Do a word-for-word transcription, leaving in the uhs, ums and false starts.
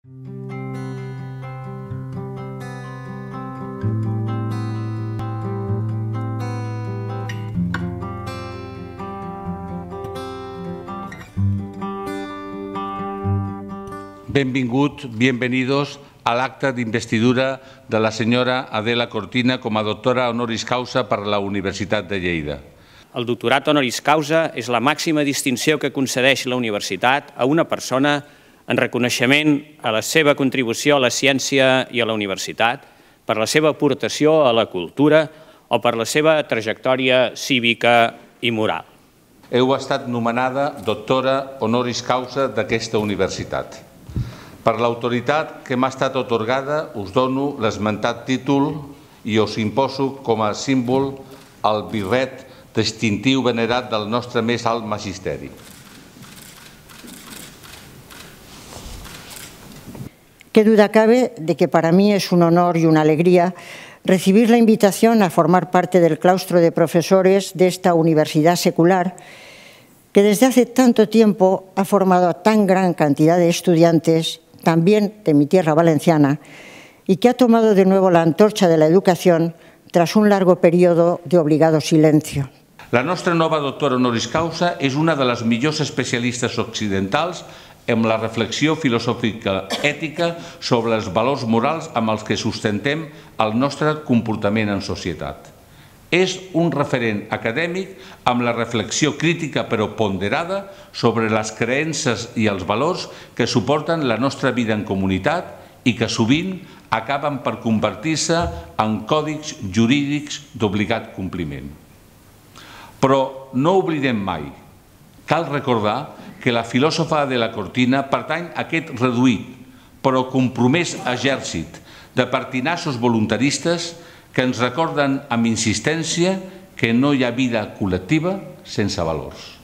Benvingut, bienvenidos al acta d'investidura de la senyora Adela Cortina com a doctora honoris causa per la Universitat de Lleida. El doctorat honoris causa és la màxima distinció que concedeix la universitat a una persona en reconeixement a la seva contribució a la ciència i a la universitat, per la seva aportació a la cultura o per la seva trajectòria cívica i moral. Heu estat nomenada doctora honoris causa d'aquesta universitat. Per l'autoritat que m'ha estat atorgada, us dono l'esmentat títol i us imposo com a símbol el birret distintiu venerat del nostre més alt magisteri. Qué duda cabe de que para mí es un honor y una alegría recibir la invitación a formar parte del claustro de profesores de esta universidad secular que desde hace tanto tiempo ha formado a tan gran cantidad de estudiantes, también de mi tierra valenciana, y que ha tomado de nuevo la antorcha de la educación tras un largo periodo de obligado silencio. La nostra nova doctora honoris causa és una de les millors especialistes occidentals en la reflexió filosòfica ètica sobre els valors morals amb els que sustentem el nostre comportament en societat. És un referent acadèmic amb la reflexió crítica però ponderada sobre les creences i els valors que suporten la nostra vida en comunitat i que sovint acaben per convertir-se en còdics jurídics d'obligat compliment. Però no oblidem mai, cal recordar que la filòsofa Adela Cortina pertany a aquest reduït però compromès exèrcit de pertinaços voluntaristes que ens recorden amb insistència que no hi ha vida col·lectiva sense valors.